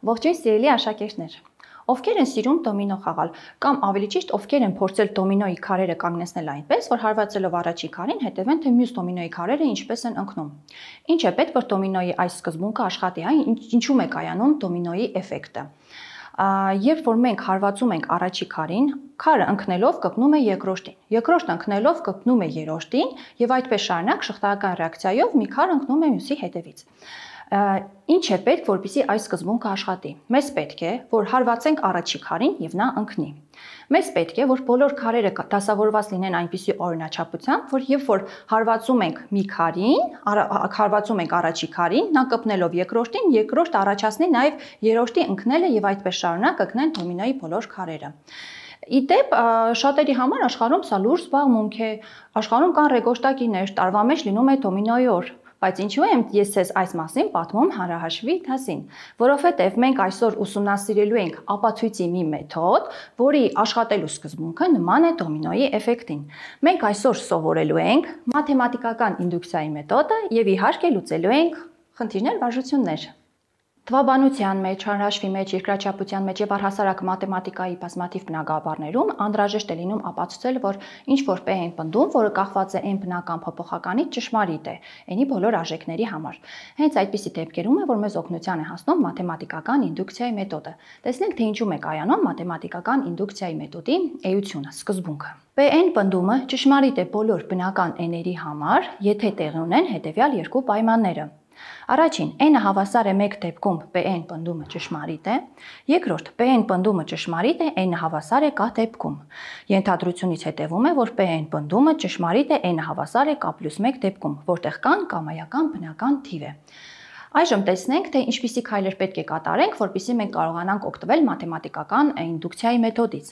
Ողջույն սիրելի աշակերտներ, ովքեր են սիրում դոմինո խաղալ, կամ ավելի ճիշտ ովքեր են փորձել դոմինոյի քարերը կանգնեցնել այնպես, որ հարվածելով առաջի քարին հետևեն, թե մյուս դոմինոյի քարերը ինչպես են ընկնում։ Ինչ է պետք, որ դոմինոյի այս սկզբունքը աշխատի, ինչու՞մ է կայանում դոմինոյի էֆեկտը։ Երբ որ մենք հարվածում ենք առաջի քարին, քարը ընկնելով կպնում է երկրորդին, երկրորդը ընկնելով կպնում է երրորդին եւ այդպես շարունակ շղթայական ռեակցիայով մի քար ընկնում է մյուսի հետևից։ Ինչ է պետք, որպեսզի այս սկզբունքը աշխատի։ Մեզ պետք է, որ հարվածենք առաջի քարին եւ նա ընկնի։ Մեզ պետք է, որ բոլոր քարերը դասավորված լինեն այնպիսի օրինաչափությամբ, որ երբ որ հարվածում ենք մի քարին, հարվածում ենք առաջի քարին, նա կպնելով երկրորդին, երկրորդը առաջացնի նաեւ երրորդի ընկնելը եւ այդպես շարունակ ընկնեն դոմինոյի բոլոր քարերը։ Իդեպ շատերի համար աշխարհում սա լուրջ զբաղմունք է, աշխարհում կան ռեկորդակիրներ, տարվա մեջ լինում է դոմինոյի օր, բայց ինչու եմ ես ձեզ այս մասին պատմում հանրահաշվի դասին, որովհետև մենք այսօր ուսումնասիրելու ենք ապացույցի մի մեթոդ, որի աշխատելու սկզբունքը նման է դոմինոյի էֆեկտին։ Մենք այսօր սովորելու ենք մաթեմատիկական ինդուկցիայի մեթոդը եւ իհարկե լուծելու ենք խնդիրներ, վարժություններ։ Թվաբանության մեջ, հանրահաշվի մեջ, երկրաչափության մեջ եւ առհասարակ մաթեմատիկայի բազմաթիվ բնագավառներում անհրաժեշտ է լինում ապացուցել, որ ինչ որ P են պնդում, որը կախված է n բնական փոփոխականից ճշմարիտ է, n-ի բոլոր արժեքների համար։ Հենց այդպիսի դեպքերում է, որ մեզ օգնության է հասնում մաթեմատիկական ինդուկցիայի մեթոդը։ Տեսնենք, թե ինչու է կայանում մաթեմատիկական ինդուկցիայի մեթոդի էությունը, սկզբունքը։ P-n պնդումը ճշմարիտ է բոլոր բնական n-երի համար, եթե տեղի ունեն հետևյալ երկու պայմանները։ Առաջին, n-ը հավասար է 1 դեպքում P-n պնդումը ճշմարիտ է, երկրորդ, P-n պնդումը ճշմարիտ է, n-ը հավասար է k դեպքում։ Ենթադրությունից հետևում է, որ P-n պնդումը ճշմարիտ է n-ը հավասար է k+1 դեպքում, որտեղ k-ն կամայական բնական թիվ է։ Այժմ տեսնենք, թե ինչպիսի քայլեր պետք է կատարենք, որպեսզի մենք կարողանանք օգտվել մաթեմատիկական ինդուկցիայի մեթոդից։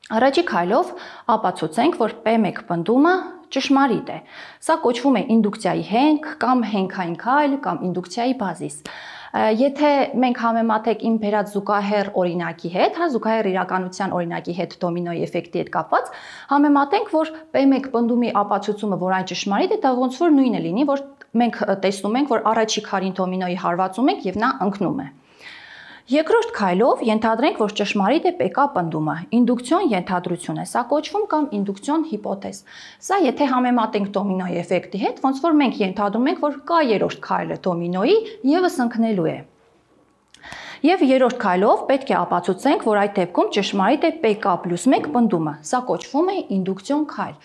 Առաջի քայլով ապացուցենք, որ P1 պնդումը ճշմարիտ է։ Սա կոչվում է ինդուկցիայի հենք կամ հենքային քայլ կամ ինդուկցիայի բազիս։ Եթե մենք համեմատենք իմ բերած զուգահեռ օրինակի հետ, զուգահեռ իրականության օրինակի հետ դոմինոյի էֆեկտի հետ կապված, համեմատենք, որ P1 պնդումի ապացուցումը, որ այն ճշմարիտ է, դա ոնց որ նույնը լինի, որ մենք տեսնում ենք, որ առաջի քարին դոմինոյի հարվածում ենք եւ նա ընկնում է։ Երկրորդ քայլով ենթադրենք, որ ճշմարիտ է PK պնդումը, ինդուկցիոն ենթադրություն է, սա կոչվում կամ ինդուկցիոն հիպոթեզ։ Սա եթե համեմատենք դոմինոյի էֆեկտի հետ, ոնց որ մենք ենթադրում ենք, որ K երրորդ քայլը դոմինոյի եւս ընկնելու է։ Եվ երրորդ քայլով պետք է ապացուցենք, որ այդ դեպքում ճշմարիտ է PK+1 պնդումը, սա կոչվում է ինդուկցիոն քայլ։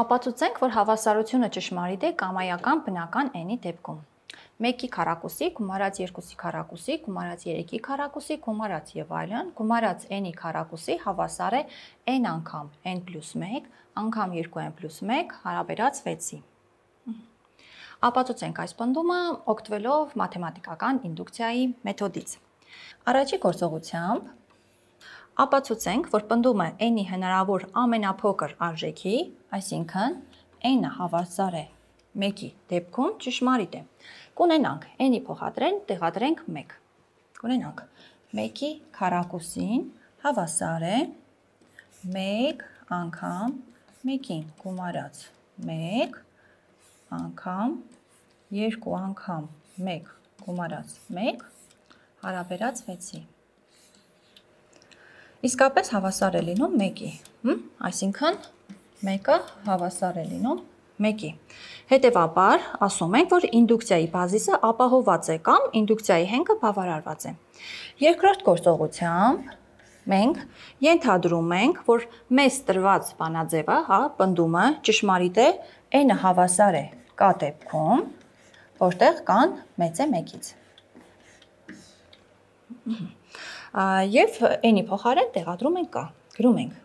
Ապացուցենք, որ հավասարությունը ճշմարիտ է կամայական բնական n-ի դեպքում։ 1-ի քառակուսի գումարած 2-ի քառակուսի գումարած 3-ի քառակուսի գումարած եւ այլն գումարած n-ի քառակուսի հավասար է n անգամ n+1 անգամ 2n+1 հարաբերած 6-ի։ Ապացուցենք այս պնդումը օգտվելով մաթեմատիկական ինդուկցիայի մեթոդից։ Առաջի գործողությամբ ապացուցենք, որ պնդումը n-ի հնարավոր ամենափոքր արժեքի, այսինքն n-ը հավասար է 1-ի դեպքում ճշմարիտ է։ Կունենանք n-ի փոխադրեն տեղադրենք 1։ Կունենանք 1-ի քառակուսին հավասար է 1 անգամ 1-ին գումարած 1 անգամ 2 անգամ 1 գումարած 1 հարաբերած 6-ի։ Իսկապես հավասար է լինում 1-ի, այսինքն 1-ը հավասար է լինում 1-ի։ Հետևաբար ասում ենք, որ ինդուկցիայի բազիսը ապահովված է կամ ինդուկցիայի հենքը բավարարված է։ Երկրորդ գործողությամբ մենք ենթադրում ենք, որ մեզ տրված բանաձևը, պնդումը ճշմարիտ է, n-ը հավասար է k դեպքում, որտեղ k-ն մեծ է 1-ից։ Եվ n-ի փոխարեն տեղադրում ենք k, գրում ենք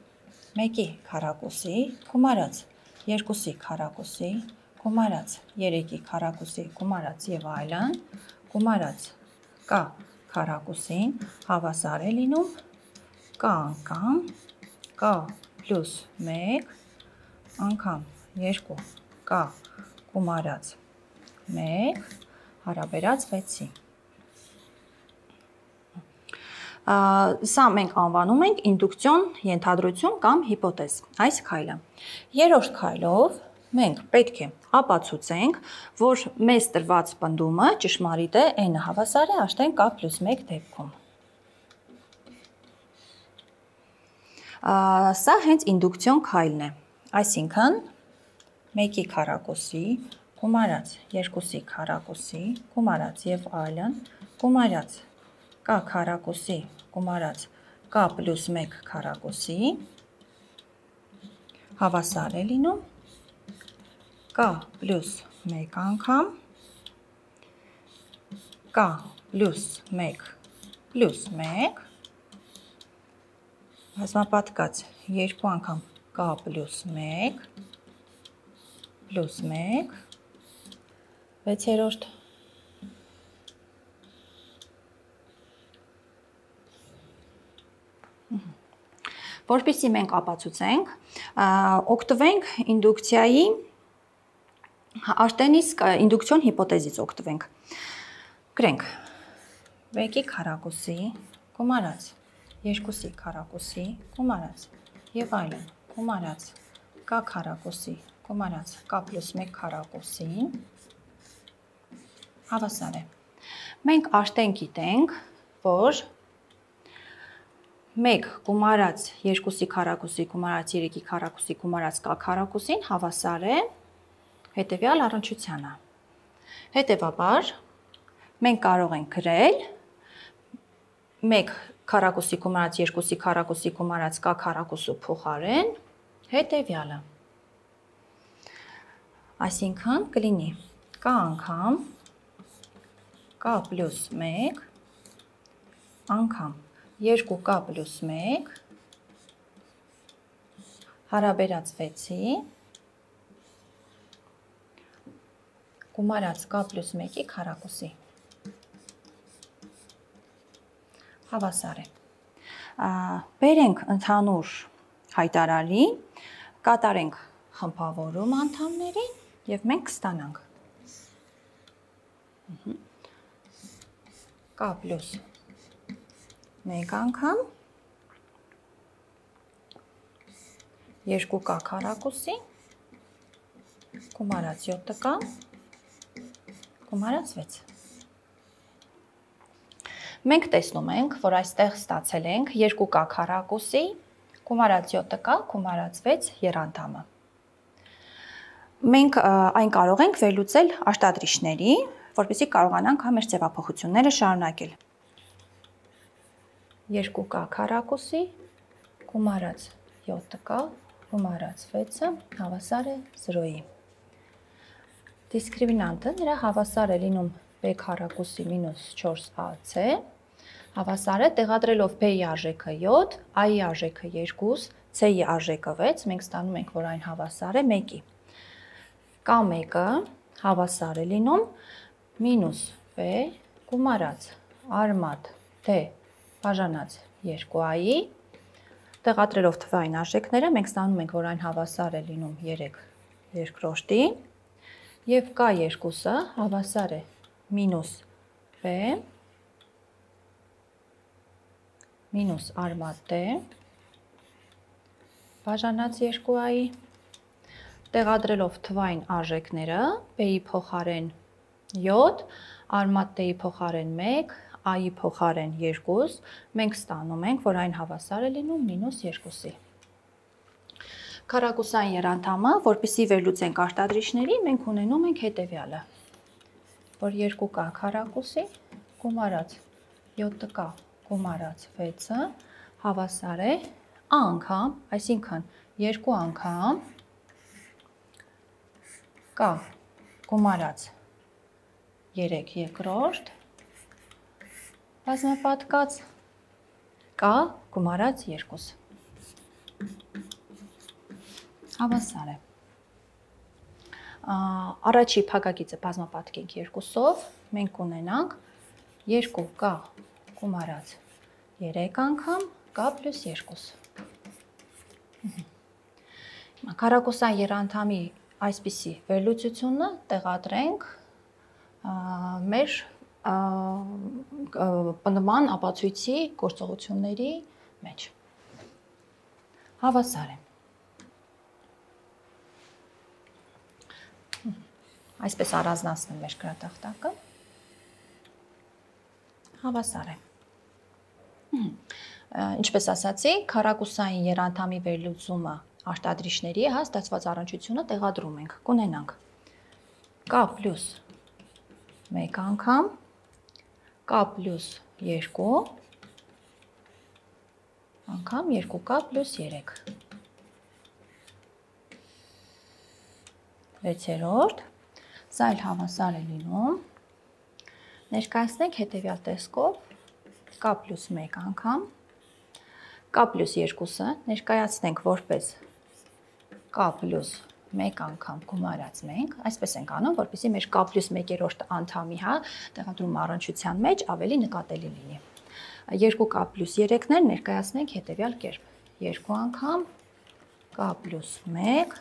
1-ի քառակուսի գումարած 2-ի քառակուսի գումարած 3-ի քառակուսի գումարած եւ այլն գումարած k քառակուսին հավասար է լինում k անգամ k+1 անգամ 2k գումարած 1 հարաբերած 6-ի։ Սա մենք անվանում ենք ինդուկցիոն ենթադրություն կամ հիպոթեզ, այս քայլը։ Երրորդ քայլով մենք պետք է ապացուցենք, որ մեզ տրված պնդումը ճշմարիտ է, n-ը հավասար է աշտարակ k + 1 դեպքում։ Սա հենց ինդուկցիոն քայլն է, այսինքն 1-ի քառակուսի գումարած 2-ի քառակուսի գումարած եւ այլն գումարած k քառակուսի գումարած k + 1 քառակուսի հավասար է լինում k + 1 անգամ k + 1 + 1 բազմապատկած 2 անգամ k + 1 + 1 6-րդ Որպեսզի մենք ապացուցենք, օգտվենք ինդուկցիայի արտենիսկ ինդուկցիոն հիպոթեզից օգտվենք։ Գրենք 1-ի քառակուսի գումարած 2-ի քառակուսի գումարած եւ այլն գումարած k քառակուսի գումարած k + 1 քառակուսին հավասար է։ Մենք արդեն գիտենք, որ 1 գումարած 2-ի քառակուսի գումարած 3-ի քառակուսի գումարած k քառակուսին հավասար է հետևյալ առնչությանը։ Հետևաբար մենք կարող ենք գրել 1 քառակուսի գումարած 2-ի քառակուսի գումարած k քառակուսու փոխարեն հետևյալը։ Այսինքն կլինի k անգամ k + 1 անգամ 2k + 1 հարաբերած 6-ի գումարած k + 1-ի քառակուսի հավասար է։ Բերենք ընդհանուր հայտարարի, կատարենք խմբավորում անդամներին եւ մենք կստանանք k + 1 անգամ 2k քառակուսի գումարած 7k գումարած 6։ Մենք տեսնում ենք, որ այստեղ ստացել ենք 2k քառակուսի գումարած 7k գումարած 6 եռանդամը։ Մենք այն կարող ենք վերլուծել արտադրիչների, որպեսզի կարողանանք մեր ձևափոխությունները շարունակել։ 2k քառակուսի գումարած 7k գումարած 6-ը հավասար է 0-ի։ Դիսկրիմինանտը նրա հավասար է լինում b քառակուսի - 4ac, հավասար է տեղադրելով b-ի արժեքը 7, a-ի արժեքը 2, c-ի արժեքը 6, մենք ստանում ենք, որ այն հավասար է 1-ի։ K1-ը հավասար է լինում -b գումարած արմատ d բաժանած 2a-ի, տեղադրելով թվային արժեքները մենք ստանում ենք, որ այն հավասար է լինում 3 երկրորդի եւ k2-ը հավասար է -b մինուս արմատ d բաժանած 2a-ի, տեղադրելով թվային արժեքները b-ի փոխարեն 7, արմատ d-ի փոխարեն 1, a-ի փոխարեն 2, մենք ստանում ենք, որ այն հավասար է լինում -2-ի։ Քառակուսային եռանդամը, որպեսզի վերլուծենք արտադրիչների, մենք ունենում ենք հետևյալը, որ 2k քառակուսի գումարած 7k գումարած 6-ը հավասար է a անգամ, այսինքն 2 անգամ k գումարած 3 երկրորդ բազմապատկած k գումարած 2 հավասար է։ Առաջի փակագիծը բազմապատկենք 2-ով, մենք ունենանք 2k գումարած 3 անգամ k + 2։ Քառակուսային եռանդամի այսպիսի վերլուծությունը տեղադրենք մեր պնդման ապացույցի գործողությունների մեջ։ Հավասար է Այսպես առանձնացնեմ մեր գրատախտակը։ Հավասար է։ Ինչպես ասացի, քառակուսային երանդամի վերլուծումը արտադրիչների հաստատված առնչությունը տեղադրում ենք։ Կունենանք k պլյուս 1 անգամ, k պլյուս 2 անգամ 2k պլյուս 3։ 6-րդ, սա էլ հավասար է լինում։ Ներկայացնենք հետևյալ տեսքով k պլյուս 1 անգամ, k պլյուս 2-ը ներկայացնենք որպես k պլյուս 1 անգամ գումարած մենք, այսպես ենք անում, որպեսզի մեր k պլյուս 1-րդ անդամի տեղադրում առնչության մեջ ավելի նկատելի լինի։ 2k պլյուս 3-ներ ներկայացնենք հետևյալ կերպ. 2 անգամ k պլյուս 1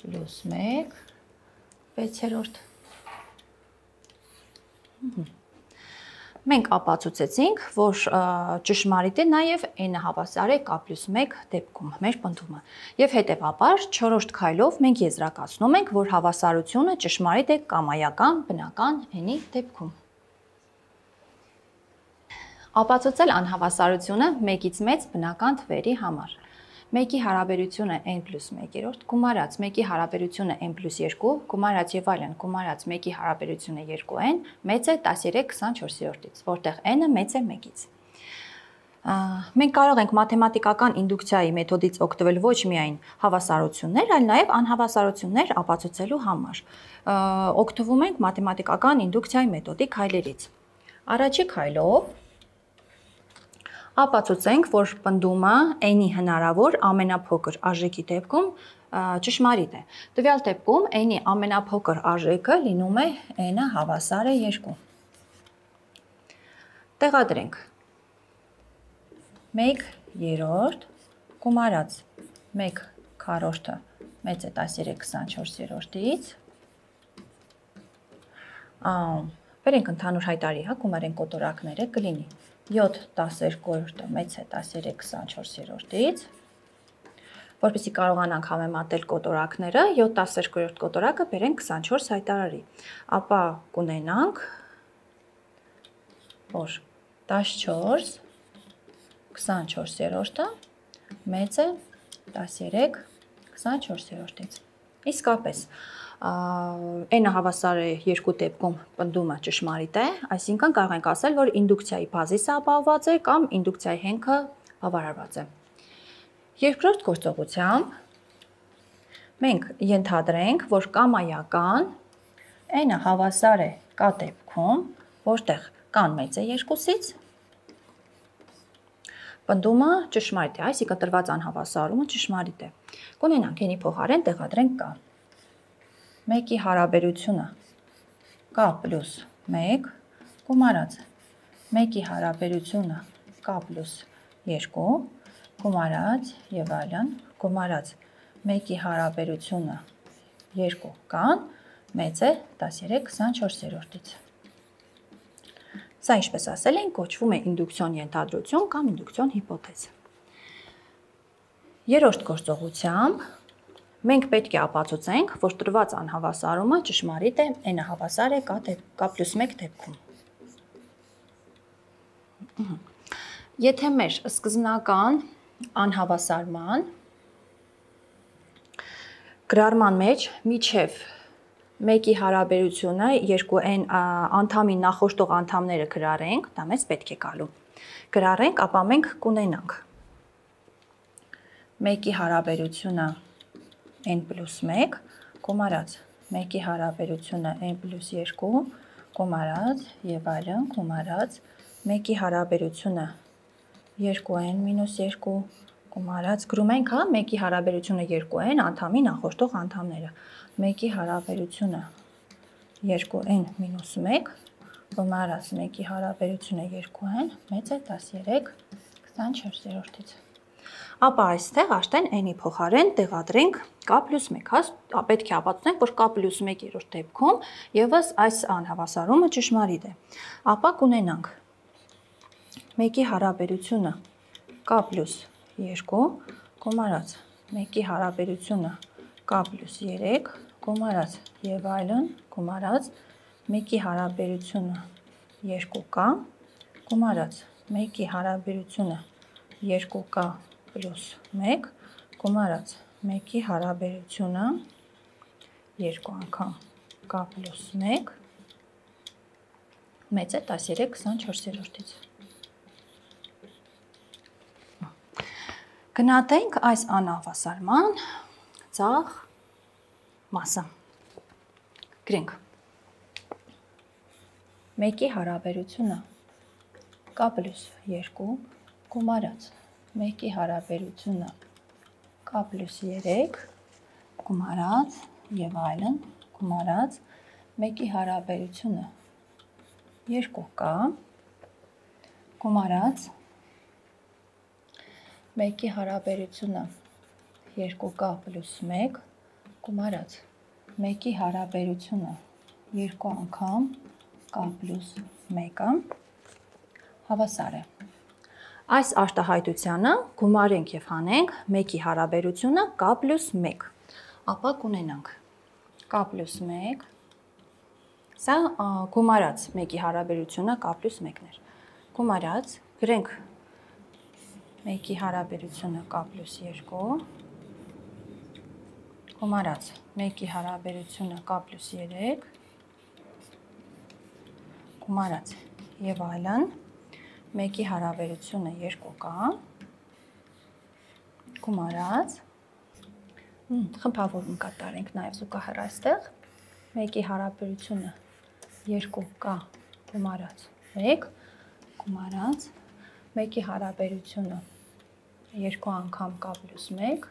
պլյուս 1 6-րդ։ Մենք ապացուցեցինք, որ ճշմարիտ է նաև n-ը հավասար է k պլյուս 1 դեպքում, մեր պնդումը։ Եվ հետևաբար 4-րդ քայլով մենք եզրակացնում ենք, որ հավասարությունը ճշմարիտ է կամայական բնական n-ի դեպքում։ Ապացուցել անհավասարությունը 1-ից մեծ բնական թվերի համար։ 1-ի հարաբերությունը n պլյուս 1-րդ, գումարած 1-ի հարաբերությունը n պլյուս 2, գումարած եւ այլն, գումարած 1-ի հարաբերությունը 2n, մեծ է 13/24-ից, որտեղ n-ը մեծ է 1-ից։ Մենք կարող ենք մաթեմատիկական ինդուկցիայի մեթոդից օգտվել ոչ միայն հավասարություններ, այլ նաև անհավասարություններ ապացուցելու համար։ Օգտվում ենք մաթեմատիկական ինդուկցիայի մեթոդի քայլերից։ Առաջի քայլով ապացուցենք, որ պնդումը n-ի հնարավոր ամենափոքր արժեքի դեպքում ճշմարիտ է։ Տվյալ դեպքում n-ի ամենափոքր արժեքը լինում է n-ը հավասար է 2։ Տեղադրենք 1/3 գումարած 1/4-ը մեծ է 13/24-ից։ Բերենք ընդհանուր հայտարարի, գումարենք կոտորակները, կլինի 7/12-ը մեծ է 13/24-ից, որպեսզի կարողանանք համեմատել կոտորակները, 7/12 կոտորակը բերենք 24 հայտարարի, ապա կունենանք, որ 14/24-ը մեծ է 13/24-ից։ Իսկապես, n-ը հավասար է 2 դեպքում պնդումը ճշմարիտ է, այսինքն կարող ենք ասել, որ ինդուկցիայի բազիսը ապահովված է կամ ինդուկցիայի հենքը բավարարված է։ Երկրորդ գործողությամբ մենք ենթադրենք, որ կամայական n-ը հավասար է k դեպքում, որտեղ k-ն մեծ է 2-ից, պնդումը ճշմարիտ է, այսինքն տրված անհավասարումը ճշմարիտ է։ Կունենանք n-ի փոխարեն տեղադրենք k։ 1-ի հարաբերությունը k պլյուս 1 գումարած 1-ի հարաբերությունը k պլյուս 2 գումարած եւ այլն, գումարած 1-ի հարաբերությունը 2k-ն մեծ է 13/24-ից։ Սա, ինչպես ասել ենք, կոչվում է ինդուկցիոն ենթադրություն կամ ինդուկցիոն հիպոթեզ։ Երրորդ գործողությամբ մենք պետք է ապացուցենք, որ տրված անհավասարումը ճշմարիտ է, n-ը հավասար է k պլյուս 1 դեպքում։ Եթե մեր սկզբնական անհավասարման գրառման մեջ միջև 1-ի հարաբերությունը 2n անդամի նախորդող անդամները գրառենք, դա մեզ պետք է գալու։ Գրառենք, ապա մենք կունենանք 1-ի հարաբերությունը n պլյուս 1 գումարած 1-ի հարաբերությունը n պլյուս 2 գումարած եւ այլն գումարած 1-ի հարաբերությունը 2n մինուս 2 գումարած գրում ենք, 1-ի հարաբերությունը 2n անդամի նախորդող անդամները 1-ի հարաբերությունը 2n մինուս 1 գումարած 1-ի հարաբերությունը 2n մեծ է 13/24-ից։ Ապա այստեղ արդեն n-ի փոխարեն տեղադրենք k պլյուս 1, պետք է ապացուցենք, որ k պլյուս 1-րդ դեպքում եւս այս անհավասարումը ճշմարիտ է։ Ապա կունենանք 1-ի հարաբերությունը k պլյուս 2 գումարած 1-ի հարաբերությունը k պլյուս 3 գումարած եւ այլն, գումարած 1-ի հարաբերությունը 2k, գումարած 1-ի հարաբերությունը 2k պլյուս 1, գումարած 1-ի հարաբերությունը 2 անգամ k պլյուս 1, մեծ է 13/24-ից։ Գնահատենք այս անհավասարման ցախ մասը։ Գրենք 1-ի հարաբերությունը k պլյուս 2, գումարած 1-ի հարաբերությունը k պլյուս 3, գումարած եւ այլն, գումարած 1-ի հարաբերությունը 2k, գումարած 1-ի հարաբերությունը 2k պլյուս 1, գումարած 1-ի հարաբերությունը 2 անգամ k պլյուս 1-ը հավասար է։ Այս արտահայտությանը գումարենք եւ հանենք 1-ի հարաբերությունը k պլյուս 1, ապա կունենանք k պլյուս 1, սա գումարած 1-ի հարաբերությունը k պլյուս 1-ն էր, գումարած գրենք 1-ի հարաբերությունը k պլյուս 2, գումարած 1-ի հարաբերությունը k պլյուս 3, գումարած եւ այլն, 1-ի հարաբերությունը 2k, գումարած, խմբավորում կատարենք նաեւ զուգահեռ այստեղ, 1-ի հարաբերությունը 2k, գումարած 1, գումարած 1-ի հարաբերությունը 2 անգամ k պլյուս 1,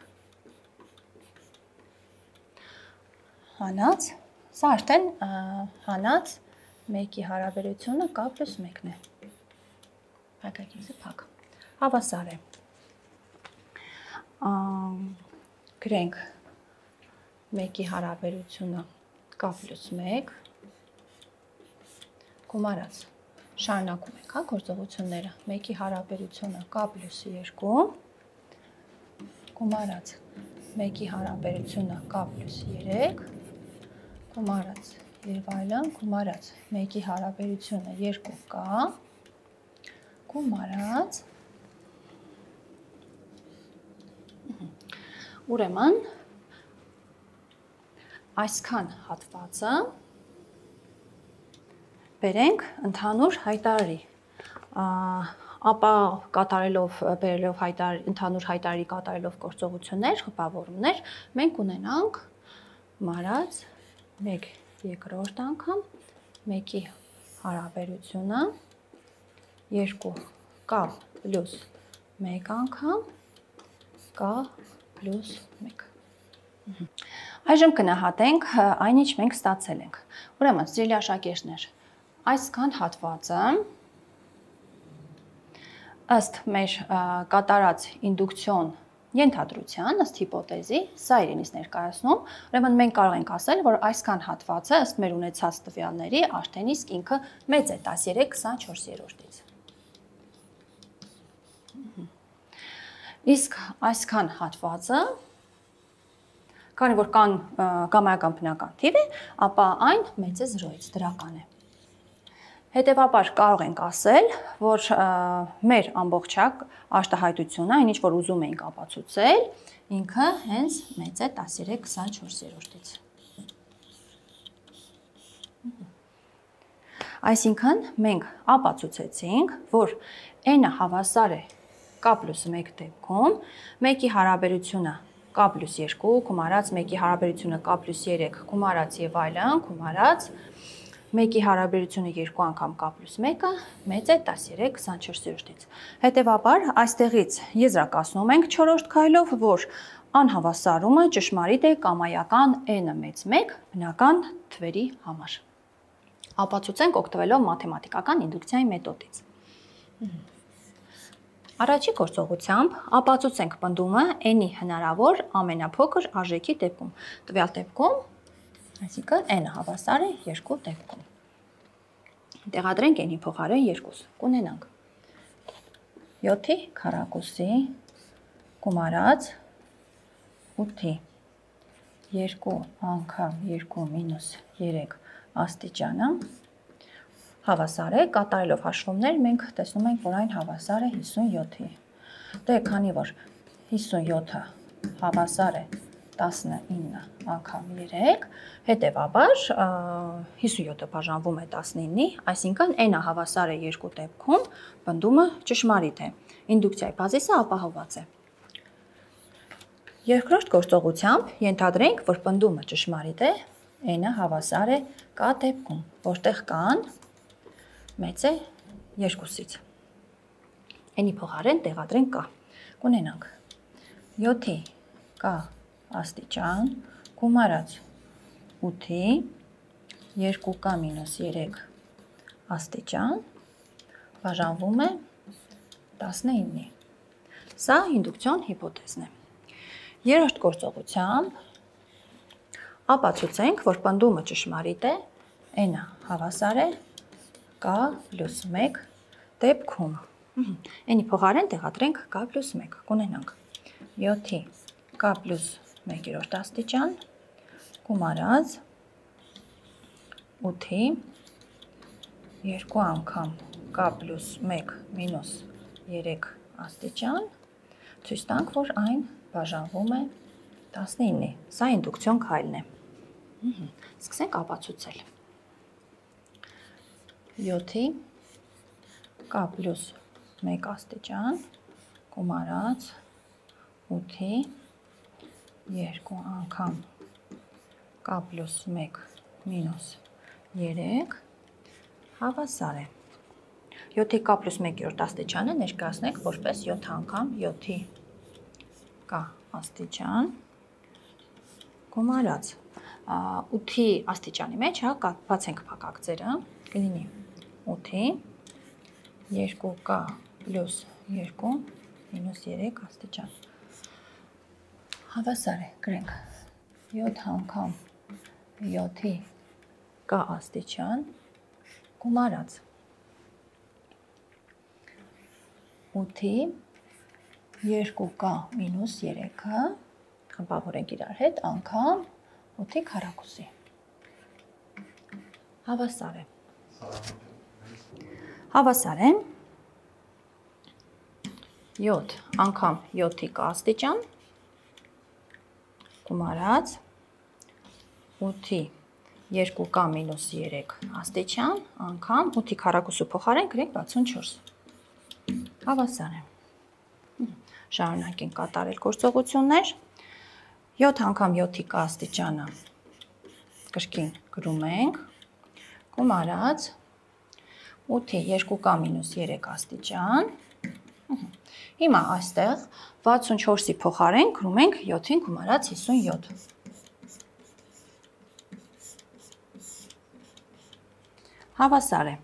հանած, սա արդեն հանած 1-ի հարաբերությունը k պլյուս 1-ն է, փակագիծը փակ, հավասար է, գրենք 1-ի հարաբերությունը k պլյուս 1, գումարած, շարունակում ենք գործողությունները, 1-ի հարաբերությունը k պլյուս 2, գումարած 1-ի հարաբերությունը k պլյուս 3, գումարած եւ այլն, գումարած 1-ի հարաբերությունը 2k, գումարած, ուրեմն այսքան հատվածը բերենք ընդհանուր հայտարարի, ապա կատարելով, բերելով ընդհանուր հայտարարի կատարելով գործողություններ, խմբավորումներ, մենք ունենանք մարած 1/2 անգամ 1-ի հարաբերությունը 2k պլյուս 1 անգամ k պլյուս 1։ Այժմ կնահատենք այն, ինչ մենք ստացել ենք։ Ուրեմն, սիրելի աշակերտներ, այսքան հատվածը ըստ մեր կատարած ինդուկցիոն ենթադրության, ըստ հիպոթեզի, սա իրենից ներկայացնում, ուրեմն մենք կարող ենք ասել, որ այսքան հատվածը ըստ մեր ունեցած տվյալների արդեն իսկ ինքը մեծ է 13/24-ից։ Իսկ այսքան հատվածը, քանի որ կան գամայական բնական թիվ է, ապա այն մեծ է 0-ից, դրական է։ Հետևաբար կարող ենք ասել, որ մեր ամբողջակ արտահայտությունը, այն ինչ որ ուզում էինք ապացուցել, ինքը հենց մեծ է 13/24-ից։ Այսինքն մենք ապացուցեցինք, որ n-ը հավասար է k պլյուս 1 դեպքում, 1-ի հարաբերությունը k պլյուս 2, գումարած 1-ի հարաբերությունը k պլյուս 3, գումարած եւ այլն, գումարած 1-ի հարաբերությունը 2 անգամ k պլյուս 1-ը մեծ է 13/24-ից։ Հետևաբար, այստեղից եզրակացնում ենք 4-րդ քայլով, որ անհավասարումը ճշմարիտ է կամայական n-ը մեծ 1 բնական թվերի համար։ Ապացուցենք օգտվելով մաթեմատիկական ինդուկցիայի մեթոդից։ Առաջի գործողությամբ ապացուցենք պնդումը n-ի հնարավոր ամենափոքր արժեքի դեպքում։ Տվյալ դեպքում, այսինքն n-ը հավասար է 2 դեպքում։ Տեղադրենք n-ի փոխարեն 2, կունենանք 7-ի քառակուսի գումարած 8-ի 2 անգամ 2 մինուս 3 աստիճանը հավասար է, կատարելով հաշվումներ մենք տեսնում ենք, որ այն հավասար է 57-ի։ Դե քանի որ 57-ը հավասար է 19 անգամ 3, հետևաբար 57-ը բաժանվում է 19-ի, այսինքն n-ը հավասար է 2 դեպքում, պնդումը ճշմարիտ է։ Ինդուկցիայի բազիսը ապահովված է։ Երկրորդ գործողությամբ ենթադրենք, որ պնդումը ճշմարիտ է, n-ը հավասար է k դեպքում, որտեղ k-ն մեծ է 2-ից։ N-ի փոխարեն տեղադրենք k։ Կունենանք 7-ի k աստիճան գումարած 8-ի 2k մինուս 3 աստիճան բաժանվում է 19-ի։ Սա ինդուկցիոն հիպոթեզն է։ Երրորդ գործողությամբ ապացուցենք, որ պնդումը ճշմարիտ է, n-ը հավասար է k պլյուս 1 դեպքում։ N-ի փոխարեն տեղադրենք k պլյուս 1, կունենանք 7-ի k պլյուս 1 աստիճան գումարած 8-ի 2 անգամ k պլյուս 1 մինուս 3 աստիճան, ցույց տանք, որ այն բաժանվում է 19-ի։ Սա ինդուկցիոն քայլն է։ Սկսենք ապացուցել։ 7-ի k պլյուս 1 աստիճան գումարած 8-ի 2 անգամ k պլյուս 1 մինուս 3 հավասար է։ 7-ի k պլյուս 1 աստիճանը ներկայացնենք որպես 7 անգամ 7-ի k աստիճան գումարած 8-ի աստիճանի մեջ, բացենք փակագծերը, կլինի 8-ի 2k պլյուս 2 մինուս 3 աստիճան։ Հավասար է, գրենք 7 անգամ 7-ի k աստիճան գումարած 8-ի 2k մինուս 3-ը, խմբավորենք իրար հետ, անգամ 8-ի քառակուսի։ Հավասար է։ Հավասար է 7 անգամ 7-ի k աստիճան գումարած 8-ի 2k մինուս 3 աստիճան անգամ 8-ի քառակուսու փոխարեն գրենք 64։ Հավասար է։ Շարունակենք կատարել գործողություններ։ 7 անգամ 7-ի k աստիճանը կրկին գրում ենք, գումարած 8-ի 2k մինուս 3 աստիճան։ Հիմա այստեղ 64-ի փոխարեն գրում ենք 7-ին գումարած 57։ Հավասար է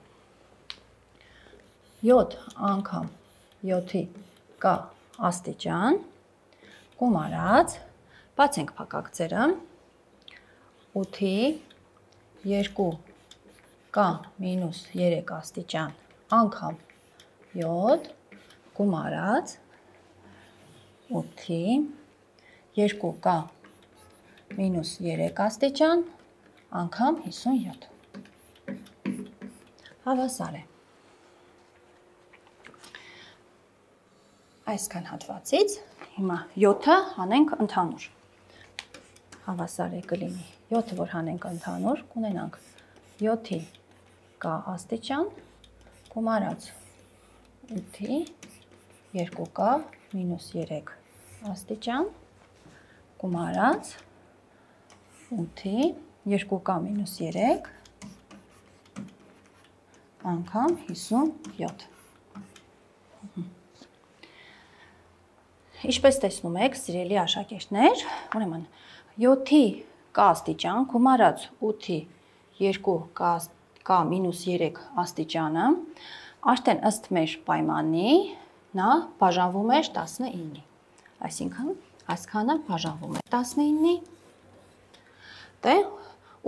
7 անգամ 7-ի k աստիճան գումարած, բացենք փակագծերը, 8-ի 2k մինուս 3 աստիճան անգամ 7 գումարած 8-ի 2k մինուս 3 աստիճան անգամ 57։ Հավասար է։ Այսքան հատվածից հիմա 7-ը հանենք ընդհանուր։ Հավասար է կլինի 7-ը, որ հանենք ընդհանուր, կունենանք 7-ի k աստիճան գումարած 8-ի 2k մինուս 3 աստիճան գումարած 8-ի 2k մինուս 3 անգամ 57։ Ինչպես տեսնում եք, սիրելի աշակերտներ, ուրեմն 7-ի k աստիճան գումարած 8-ի 2k մինուս 3 աստիճանը արդեն ըստ մեր պայմանի նա բաժանվում էր 19-ի։ Այսինքն այսքանը բաժանվում է 19-ի։ Դե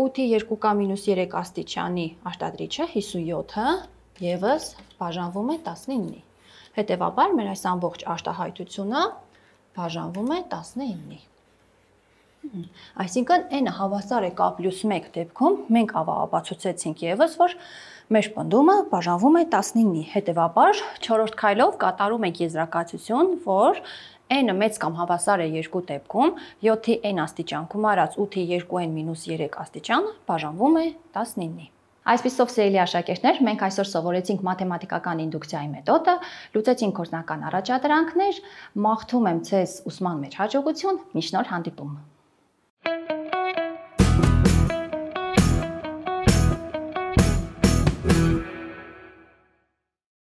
8-ի 2k մինուս 3 աստիճանի արտադրիչը 57-ը ևս բաժանվում է 19-ի։ Հետևաբար մեր այս ամբողջ արտահայտությունը բաժանվում է 19-ի։ Այսինքն n-ը հավասար է k + 1 դեպքում մենք ապացուցեցինք եւս, որ մեր պնդումը բաժանվում է 19-ի, հետևաբար 4-րդ քայլով կատարում ենք եզրակացություն, որ n-ը մեծ կամ հավասար է 2 դեպքում 7-ի n աստիճան գումարած 8-ի 2n - 3 աստիճան բաժանվում է 19-ի։ Այսպիսով, սիրելի աշակերտներ, մենք այսօր սովորեցինք մաթեմատիկական ինդուկցիայի մեթոդը, լուծեցինք գործնական առաջադրանքներ, մաղթում եմ ձեզ ուսման մեջ հաջողություն, մինչ նոր հանդիպում։